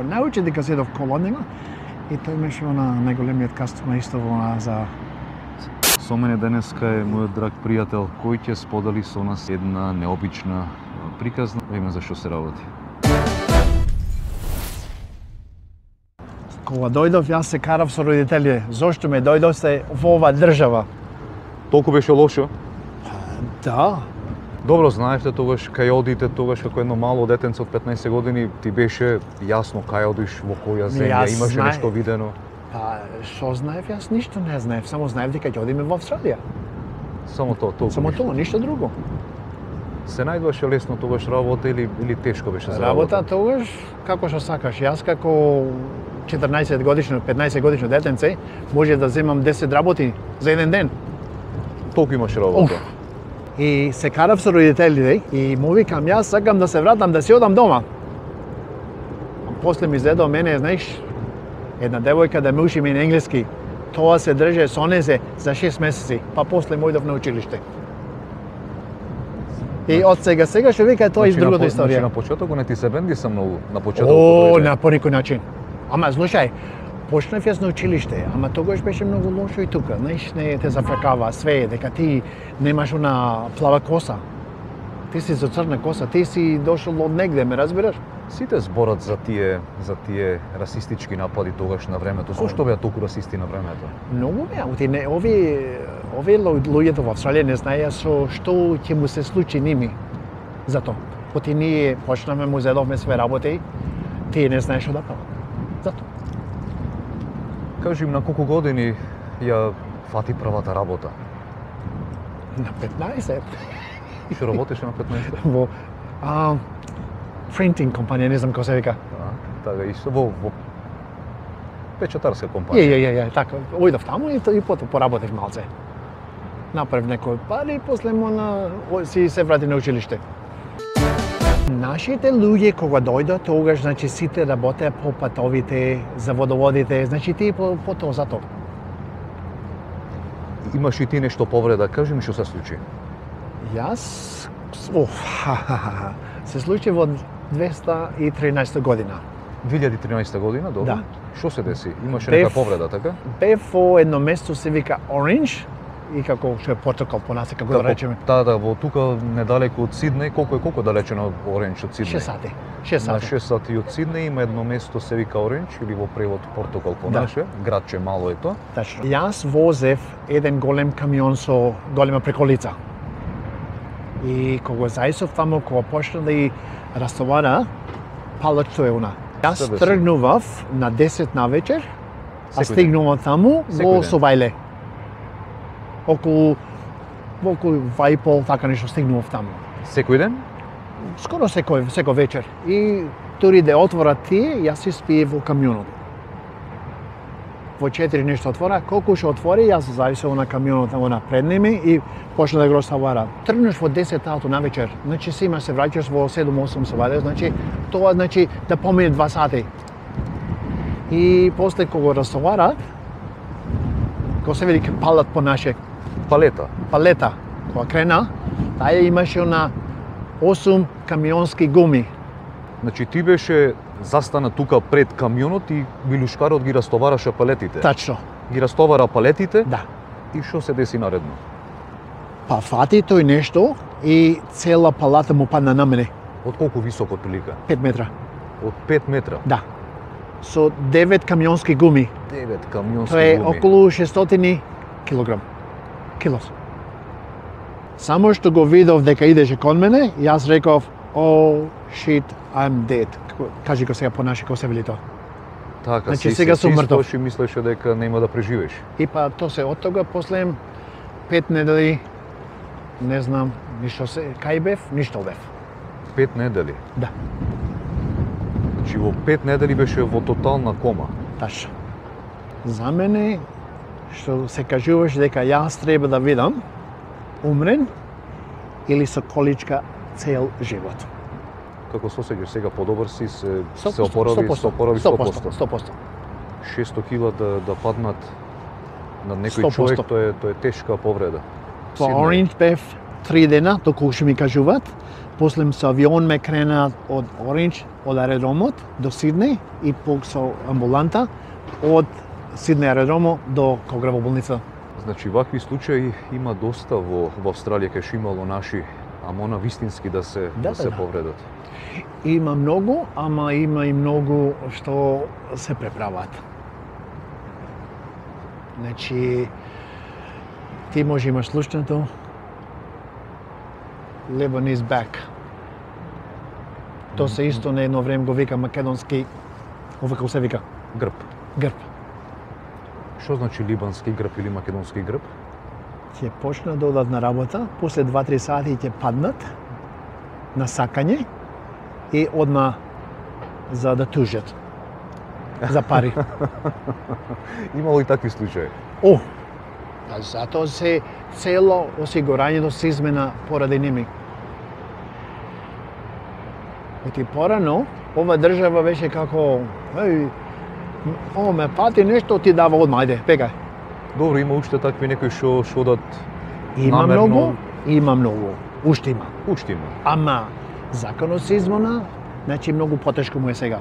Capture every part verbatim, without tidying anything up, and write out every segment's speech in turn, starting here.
Научи дека седов колонина и тој имаше она најголемиот кастума исто она за... Со мене денеска е мојот драг пријател кој ќе сподели со нас една необична приказна име за што се работи. Кога дојдов, јас се карав со родителите. Зошто ме дојдовте во оваа држава? Толку беше лошо? Да. Добро знаевте тогаш кај одите, тогаш како едно мало детенце од петнаесет години, ти беше јасно кај одиш, во која земја, Јас имаше знае. нешто видено? Па, што знаев? Јас ништо не знаев. Само знаев дека ќе одиме во Австралија. Само тоа, толку. Само ништо. тоа, ништо друго. Се најдваше лесно тогаш работа или или тешко беше за Работа работа? тогаш како што сакаш. Јас како четрнаесет годишно, петнаесет годишно детенце може да земам десет работи за еден ден. Толку имаш работа. Уф. И се карав со родителите и му викам јас сакам да се вратам да си одам дома. А после ми изгледал мене, знаеш, една девојка да ме учи ми на енглески. Тоа се држе со незе за шест месеци, па после му идов на училиште. И од сега сега што вика тоа из Значи, на другата по- историја. Значи на почетокот не ти се бенди са многу, на почетокот. О, дојде. на порекој начин. Ама слушај, почнав јас на училиште, ама тогаш беше многу лошо и тука. Знаеш, не те зафракава све, дека ти немаш она плава коса. Ти си за црна коса, ти си дошол од негде, ме разбираш? Сите зборат за тие за тие расистички напади тогаш на времето. Зошто беа толку расисти на времето? Многу беа, оти не, ови, ови лу- луѓето во Австралија не знаеа со што ќе му се случи ними. Зато. Оти ние почнавме, му зедовме све работи, тие не знаеш што да прават. Зато. Кажи им на колку години ја фати првата работа? На петнаесет. Што работеше на петнаесет? Во а, printing компанија, не знам како се вика. А, така исто во во печатарска Ја, компанија. ја, ја, ја, така, ојдов таму и, и потоа поработив малце. Направив некој пари и после му на, о, си се врати на училиште. Нашите луѓе кога дојдат, тогаш значи сите работеа по патовите, за водоводите, значи тие по, по тоа за тоа. Имаш и ти нешто повреда, кажи ми што се случи. Јас, оф, ха, ха, ха, ха, се случи во двеста и тринаесета година. две илјади и тринаесета година, добро? Да. Што се деси? Имаше Бев- нека повреда, така? Бев во едно место се вика Orange, и како што е протокол по нас, како да речеме, Да, да, во тука недалеку од Сиднеј, колку е колку далече на Орендж од Сиднеј? шест сати. шест На сати. шест сати од Сиднеј има едно место се вика Орендж или во превод Портокал по Да. наше, градче мало е тоа. Тачно. Јас возев еден голем камион со голема преколица. И кога зајсов таму, кога почна да и растовара, палачто е она. Јас Се деси? тргнував на десет на вечер, а Секој ден? стигнував таму Секој во ден? Совајле. Околу во околу два и пол, така нешто стигнував таму. Секој ден? Скоро секој секој вечер. И дури да отворат тие, јас си спиев во камионот. Во четири нешто отвора, колку што отвори, јас зависел на камионот на пред ними и почна да го растовара. Тргнеш во десет сати на вечер, значи си има се враќаш во седум-осум саваде, значи тоа значи да помине два сати. И после кога го растоварат, кога се вели палат по наше Палета. палета, кога крена, таа имаше на осум камионски гуми. Значи ти беше застана тука пред камионот и билушкарот ги растовараше палетите. Тачно, Ги растовара палетите да. и што се деси наредно? Па фати тој нешто и цела палата му падна на мене, Од колку високо отприлика? пет метра. Од пет метра. Да. Со девет камионски гуми. девет камионски Тоа е гуми. околу шестстотини килограм. Килос. Само што го видов дека идеше кон мене, јас реков, oh shit, I'm dead. Кажи го сега по наши, како се вели тоа. Така, Значи, си, сега си, сум си мртов. стоиш и мислеше дека нема да преживееш. И па тоа се од тога, после пет недели, не знам, ништо се, кај бев, ништо бев. Пет недели. Да, Значи во пет недели беше во тотална кома. тачно. За мене, што се кажуваш дека јас треба да видам, умрен или со количка цел живот. Како се осеќаш сега подобар си, се, сто се опорави, се опорави сто сто посто. посто. шестстотини хиляди да, да паднат на некој сто посто. човек, тоа е, тоа е тешка повреда. Во Сиднеј. Orange бев три дена, доколку што ми кажуваат, После со авион ме крена од Орендж, од аеродромот до Сиднеј и пак со амбуланта од Сиднеј аеродромо до Колграва болница. Значи, вакви случаи има доста во, во Австралија, кај што имало наши, ама она вистински да се, Да, да се да. повредат. Има многу, ама има и многу што се преправат. Значи, ти може имаш слушнато Lebanese back. То се исто на едно време го вика македонски, ова како се вика, Грб. грб. Што значи либански грб или македонски грб? Ќе почнат да одат на работа, после два-три сати ќе паднат на сакање и одма за да тужат за пари. Имало и такви случаи. О, а затоа се цело осигурањето се измена поради ними. Оти порано, ова држава беше како, еј, о, ме пати нешто, ти дава одма, ајде, пекај. Добро, има уште такви некои што што одат Има намерно. многу, има многу, уште има. Уште има. Ама, законот се измена, значи многу потешко му е сега.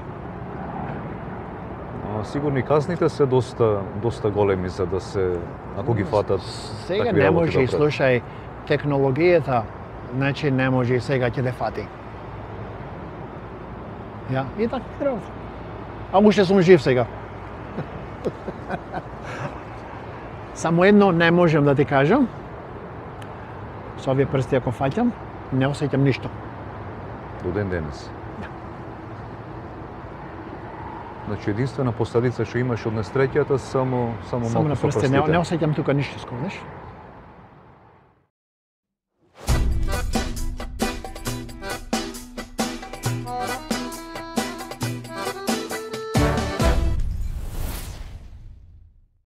А, сигурно и казните се доста доста големи за да се, ако ги фатат Сега такви не работи може да и прават. слушај, технологијата, значи не може и сега ќе те фати. Ја, и така треба. А уште сум жив сега. Само едно не можам да ти кажам. Со овие прсти ако фаќам, не осеќам ништо. До ден денес. Значи единствена последица што имаш од несреќата само само Само малку на со прсти, не, прстите. не осеќам тука ништо скоро, знаеш?